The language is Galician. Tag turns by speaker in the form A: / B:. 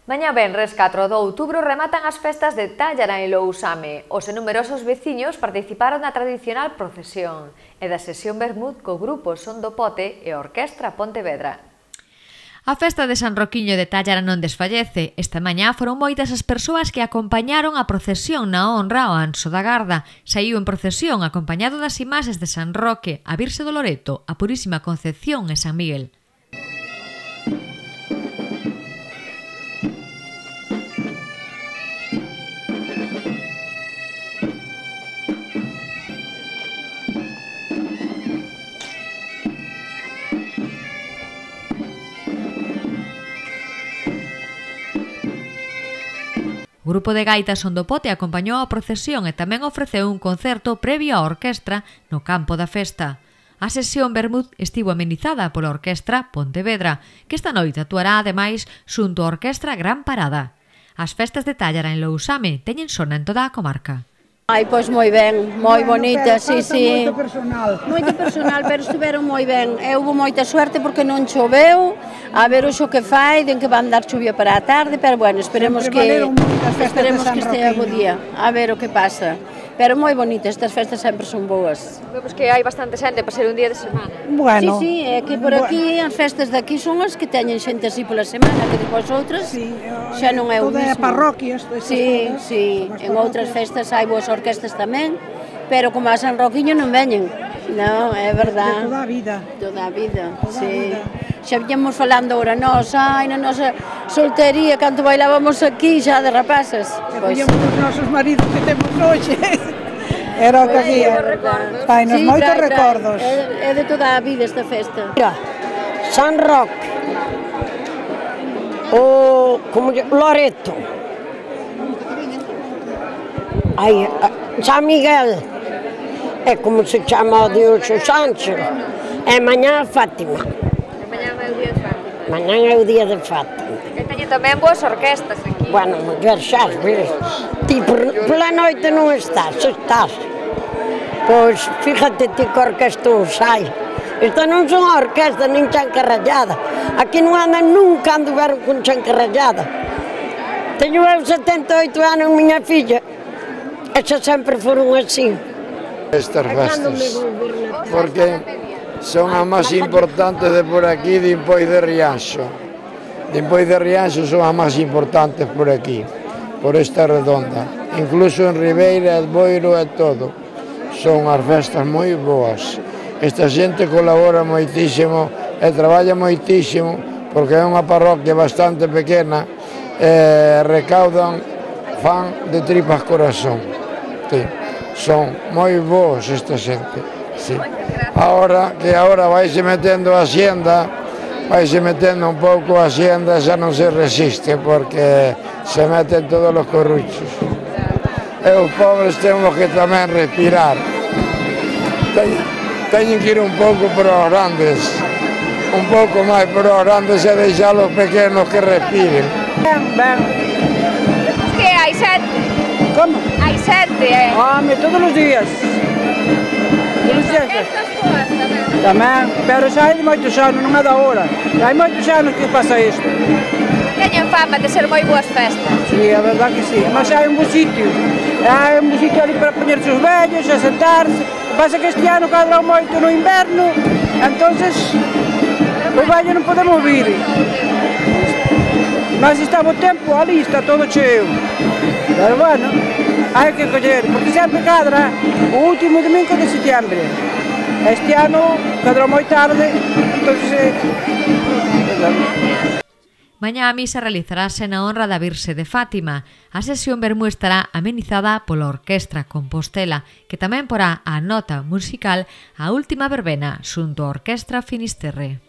A: Mañá venres 4 de outubro rematan as festas de Tállara en Lousame. Os numerosos veciños participaron na tradicional procesión e da sesión vermut co grupo Son do Pote e a Orquestra Pontevedra.
B: A festa de San Roquiño de Tállara non desfallece. Esta mañá foron moitas as persoas que acompañaron a procesión na honra ao Anso da Garda. Saíu en procesión acompañado das imaxes de San Roque, a Virxe do Loreto, a Purísima Concepción e San Miguel. O grupo de gaitas Son do Pote acompañou a procesión e tamén ofreceu un concerto previo á orquestra no campo da festa. A sesión vermut estivo amenizada pola Orquestra Pontevedra, que esta noite actuará ademais xunto á Orquestra Gran Parada. As festas de Tállara en Lousame teñen sona en toda a comarca.
C: Ai, pois moi ben, moi bonita, sí.
D: Moito personal,
C: pero estiveron moi ben. Houve moita suerte porque non choveu, a ver o xo que fai, den que van dar chuvia para a tarde, pero bueno, esperemos que estea bo día, a ver o que pasa. Pero moi bonitas, estas festas sempre son boas.
A: Pois que hai bastante xente para ser un día de semana.
C: Bueno. Sí, é que por aquí, as festas de aquí son as que teñen xente así pola semana, que depois outras xa non é o mesmo.
D: Toda a parroquia.
C: Sí, en outras festas hai boas orquestas tamén, pero como a San Roquiño non veñen. Non, é verdad.
D: De toda a vida.
C: Toda a vida, sí. Xa viñamos falando ora nós, ai, na nosa soltería, canto bailábamos aquí xa de rapazas.
D: E poñemos os nosos maridos que temos hoxe. Era o que había. Fainos moitos recordos.
C: É de toda a vida esta festa.
E: Mira, San Roque, o Loreto, San Miguel, é como se chama o Dios Sánchez, e mañá Fátima.
A: Mañá é o día de Fátima.
E: Mañá é o día de Fátima.
A: E teñen tamén boas orquestas aquí.
E: Bueno, muller, xa ves, ti pola noite non estás. Pois, fíjate ti que orquesta os hai. Esta non son orquesta, nin chancarrallada. Aquí non andan nunca anduveron con chancarrallada. Teño eu 78 anos, miña filla, e xa sempre foron así.
F: Estas festas, porque son as máis importantes de por aquí, de Impois de Rianxo. De Impois de Rianxo son as máis importantes por aquí, por esta redonda. Incluso en Ribeira, Boiro e todo. Son as festas moi boas. Esta xente colabora moitísimo e traballa moitísimo, porque é unha parroquia bastante pequena e recaudan, fan de tripas corazón. Son moi boas esta xente. Agora vaise metendo a Hacienda, vaise metendo un pouco a Hacienda, xa non se resiste, porque se meten todos os corruchos. E os pobres temos que tamén respirar. Teñen que ir un pouco para os grandes, un pouco máis para os grandes e deixar os pequenos que respiren.
D: Ben.
A: Que hai sete?
D: Como?
A: Hai sete,
D: Home, todos os días.
A: Estas boas tamén.
D: Tamén, pero xa hai moitos anos, non é da hora. Hai moitos anos que pasa isto.
A: Teñen fama de ser moi boas festas.
D: Sí, a verdad que sí. Mas hai un bo sitio. Hai un bo sitio ali para poñerse os vellos, a sentarse. Pasa que este ano cadrou moito no inverno, entonces os vellos non podemos vir. Mas está bo tempo, ali está todo cheo. Pero bueno, hai que coller, porque sempre cadra o último domingo de setembro. Este ano cadrou moi tarde, entonces...
B: Mañá a misa realizarase na honra da Virxe de Fátima. A sesión vermú estará amenizada pola Orquestra Compostela, que tamén porá a nota musical a última verbena xunto á Orquestra Finisterre.